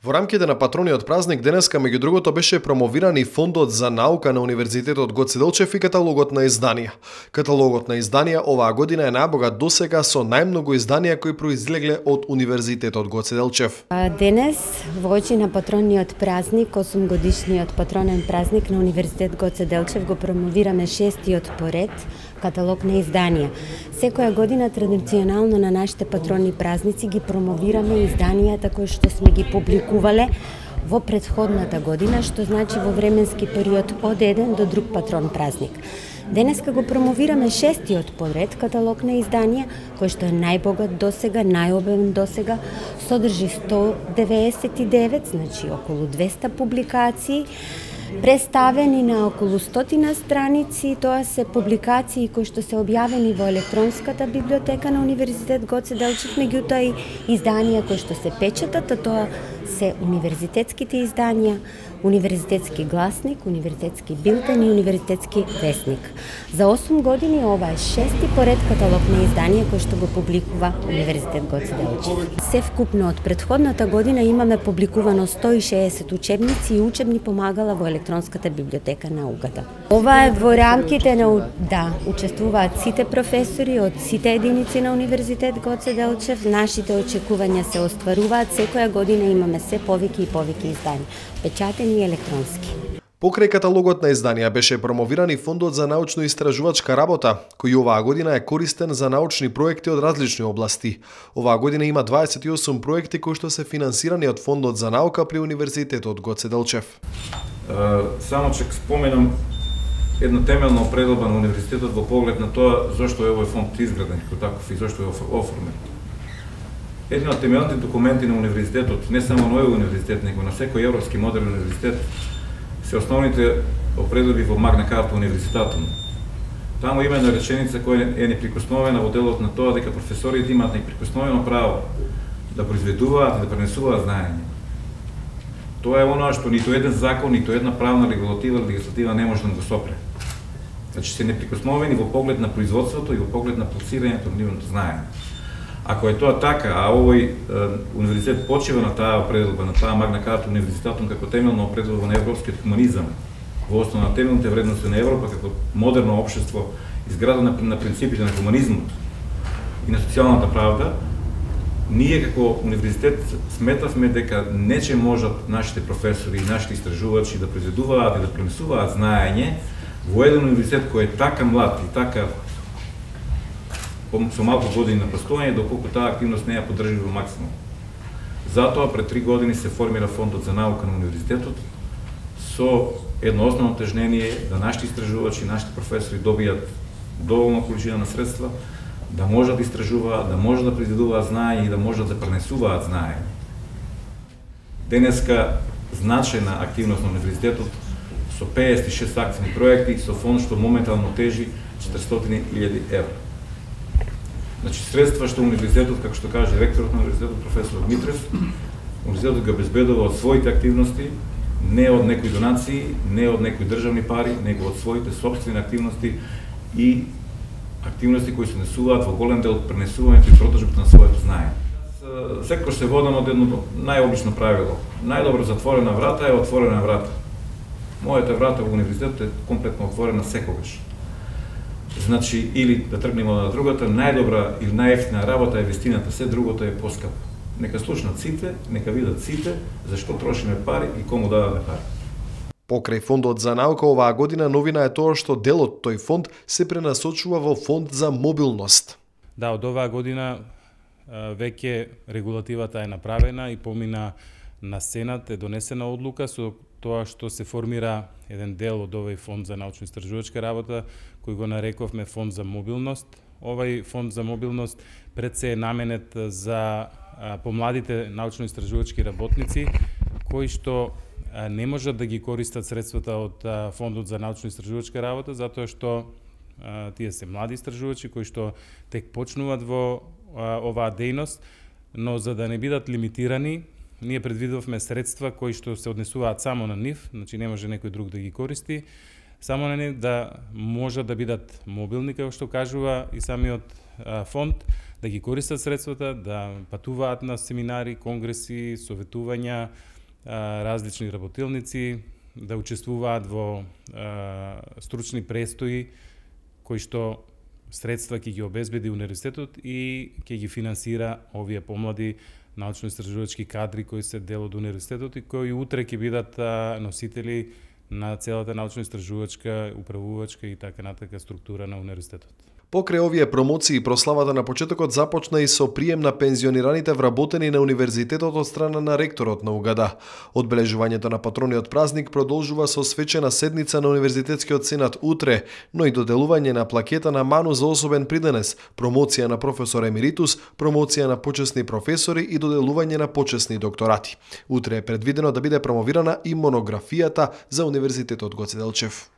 Во рамките на патрониот празник денеска меѓу другото беше промовиран и фондот за наука на Универзитетот Гоце Делчев и каталогот на изданија. Каталогот на изданија оваа година е најбогат досега со најмногу изданија кои произлегле од Универзитетот Гоце Делчев. Денес во очи на патрониот празник, 8-годишниот патронен празник на Универзитет Гоце Делчев, го промовираме 6-тиот поред каталог на изданија. Секоја година традиционално на нашите патронни празници ги промовираме изданијата кои што сме ги публикувале во претходната година, што значи во временски период од еден до друг патрон празник. Денеска го промовираме 6-тиот поред каталог на изданија, кој што е најбогат досега, најобемен досега, содржи 199, значи околу 200 публикации, представени на околу 100 страници. Тоа се публикации кои што се објавени во електронската библиотека на Универзитет Гоце Делчев, меѓутоа и изданија кои што се печатат, а тоа се универзитетските изданија, универзитетски гласник, универзитетски билтен и универзитетски весник. За 8 години ова е 6-ти поред каталог на изданија кој што го публикува Универзитет Гоце Делчев. Севкупно од претходната година имаме публикувано 160 учебници и учебни помагала во електронската библиотека на УГД. Ова е во рамките на учествуваат сите професори од сите единици на Универзитет Гоце Делчев. Нашите очекувања се остваруваат, секоја година имаме се повеќе и повеќе изданија, печатени и електронски. Покрај каталогот на изданија беше промовиран и фондот за научно-истражувачка работа, кој оваа година е користен за научни проекти од различни области. Оваа година има 28 проекти кои што се финансирани од фондот за наука при Универзитетот Гоце Делчев. Само че споменам една темелна определба на универзитетот во поглед на тоа зошто е овој фонд изграден како таков и зошто е оформен. Еден од темелните документи на универзитетот, не само на овој универзитет, него на секој европски модерен универзитет, се основните определби во Магна Карта универзитетот. Таму има една реченица која е неприкосновена во делот на тоа дека професорите имаат неприкосновено право да произведуваат и да пренесуваат знаење. Тоа е оноа што ниту еден закон, ниту една правна регулатива или легислатива не може да го сопре. Значи се неприкосновени во поглед на производството и во поглед на пласирањето на нивното знаење. Ако е тоа така, а овој универзитет почива на таа определба, на таа Магна Карта универзитетот како темелна определба на европскиот хуманизам, во основа на темелните вредности на Европа како модерно општество изградено на принципите на хуманизмот и на социјалната правда, ние како универзитет сметавме дека нече можат нашите професори и нашите истражувачи да произведуваат и да пренесуваат знаење во еден универзитет кој е така млад и така со малку години на постоење, доколку таа активност не ја поддржи во максимум. Затоа пред 3 години се формира фондот за наука на универзитетот со едно основно тежнение да нашите истражувачи, нашите професори добијат доволна количина на средства, да можат да истражуваат, да можат да произведуваат знаење и да можат да пренесуваат знаење. Денеска значајна активност на универзитетот со 56 акцијни проекти со фонд што моментално тежи 400.000 евра. Значи средства што универзитетот, како што каже ректорот на универзитетот професор Митрев, универзитетот ги обезбедува од своите активности, не од некои донации, не од некои државни пари, него од своите сопствени активности и активности кои се несуваат во голем дел пренесувањето и продажбата на своето знаење. Секогаш се водам од едно најобично правило. Најдобро затворена врата е отворена врата. Мојата врата во универзитетот е комплетно отворена секогаш. Значи, или да тргнеме од другата, најдобра или најевтина работа е вистината, се другото е поскапо. Нека слушнат сите, нека видат сите зашто трошиме пари и кому даваме пари. Покрај фондот за наука оваа година новина е тоа што дел од тој фонд се пренасочува во фонд за мобилност. Да, од оваа година веќе регулативата е направена и помина на Сенат, е донесена одлука со тоа што се формира еден дел од овој фонд за научно-истражувачка работа, кој го нарековме фонд за мобилност. Овој фонд за мобилност пред се е наменет за помладите научно-истражувачки работници, кои што не можат да ги користат средствата од фондот за научно-истражувачка работа, затоа што тие се млади истражувачи кои што тек почнуваат во оваа дејност, но за да не бидат лимитирани, ние предвидовме средства кои што се однесуваат само на нив, значи не може некој друг да ги користи, само на нив да можат да бидат мобилни, како што кажува и самиот фонд, да ги користат средствата, да патуваат на семинари, конгреси, советувања, различни работилници, да учествуваат во стручни престои кои што средства ќе ги обезбеди универзитетот и ќе ги финансира овие помлади научно-истражувачки кадри кои се дел од универзитетот и кои утре ќе бидат носители на целата научно-истражувачка, управувачка и така натака структура на универзитетот. Покрај овие промоции, прославата на почетокот започна и со прием на пензионираните вработени на универзитетот од страна на ректорот на УГД. Одбележувањето на патрониот празник продолжува со свечена седница на Универзитетскиот сенат утре, но и доделување на плакета на ману за особен приденес, промоција на професор емеритус, промоција на почесни професори и доделување на почесни докторати. Утре е предвидено да биде промовирана и монографијата за Универзитетот Гоце Делчев.